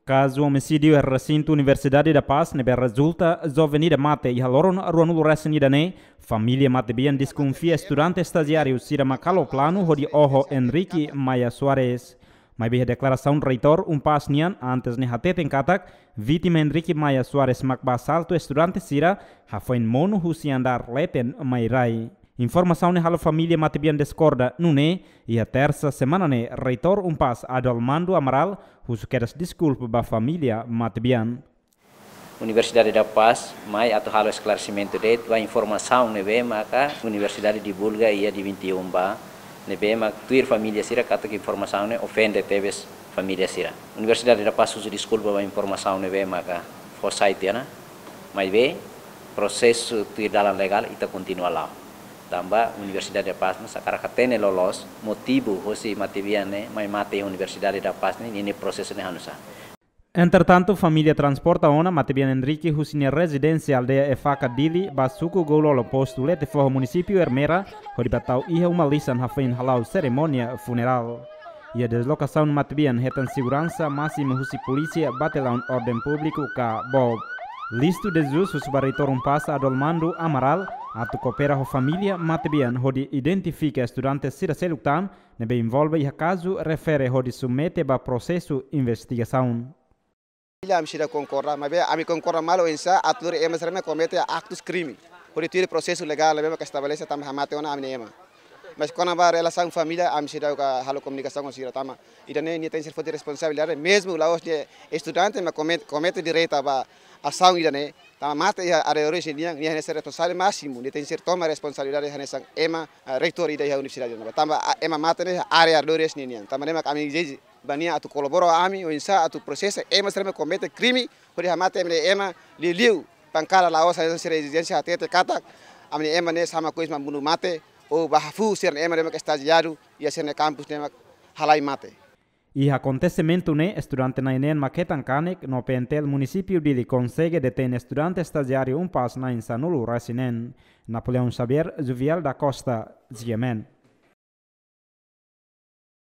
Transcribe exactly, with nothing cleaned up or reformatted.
Kazu omisídiu iha resintu Universidade da Paz ne'ebé rezulta joven ida mate iha loron ruanulu resin ida ne'e, família matebian deskonfia estudante estajiáriu sira mak halo planu hodi oho Henrique Maia Soares. Maibé iha deklarasaun reitór UNPAZ nian antes ne'e hateten katak, vítima Henrique Maia Soares mak ba asaltu estudante sira hafoin monu husi andár leten mai rai. Informasaun ne'e halo família matebian diskorda, nune'e iha tersa semana ne'e reitór UNPAZ Adolmando Amaral husu kedas deskulpa ba família matebian. Universidade da Paz mai atu halo esklaresimentu de'it ba informasaun ne'ebé maka universidade divulga iha dia vinte e um ba, ne'ebé mak tuir família sira katak informasaun ne'e ofende tebes família sira. Universidade da Paz husu deskulpa ba informasaun ne'ebé maka fó sai tiha ona, maibé prosesu tuir dalan legál ita kontinua la'o. Tanba Universidade da Paz ne'e sakarak hatene loloos motivu hosi matebian ne'e mai mate iha Universidade da Paz ne'e, ninia prosesu ne'e hanusá. Entretantu, família transporta ona matebian Henrique husi nia rezidénsia aldeia Efaka Dili ba suku Goulolo, postu Letefoho, munisípiu Ermera, hodi ba tau iha uma lisan hafoin hala'o serimónia funerál. Iha deslokasaun matebian hetan seguransa másimu husi polísia Bataliaun Orden Públiku ka BOP. Listo de Jesus husu ba reitór UNPAZ Adolmando Amaral atu koopera ho família matebian hodi identifika estudante sira seluk tan ne'ebé envolve iha kazu refere hodi submete ba prosesu investigasaun. Família ami seidauk konkorda, maibé ami konkorda malu oinsá atu lori ema sira ne'ebé komete aktus krime. Hodi tuir prosesu legál ne'ebé maka estabelese tanba hamate ona ami-nia ema. Mas kona-ba relasaun família ami seidauk halo komunikasaun ho sira tanba ida-ne'e nia tenke ser foti responsabilidade, mezmu la'ós nia estudante mak komete, komete direta ba asaun ida-ne'e. Tanba mate iha arredores ninian, nia hanesan responsavel másimu, nia tenke ser toma responsabilidade hanesan ema, ah, reitór ida iha universidade ne'ebá. Tanba, ah, ema mate ne'e iha área arredores ninian. Tanba ne'e mak ami ezije ba nia atu kolabora ami oinsá atu prosesa ema sira ne'ebé komete krime hodi hamate ami-nia ema, liuliu pankada la'ós hanesan sira ezijénsia hatete katak ami-nia ema ne'e sama kois mak bunuh mate ou ba hafuu sira-nia ema ne'ebé mak estajiáriu iha sira-nia kampus ne'e mak halai mate. Iha akontesimentu ne'e, estudante na'in-neen mak hetan kanek no PNTL munisípiu Dili konsege detein estudante estajiáriu UNPAZ na'in-sanulu resin-neen. Napoleão Xavier, Juviel da Costa, G M N.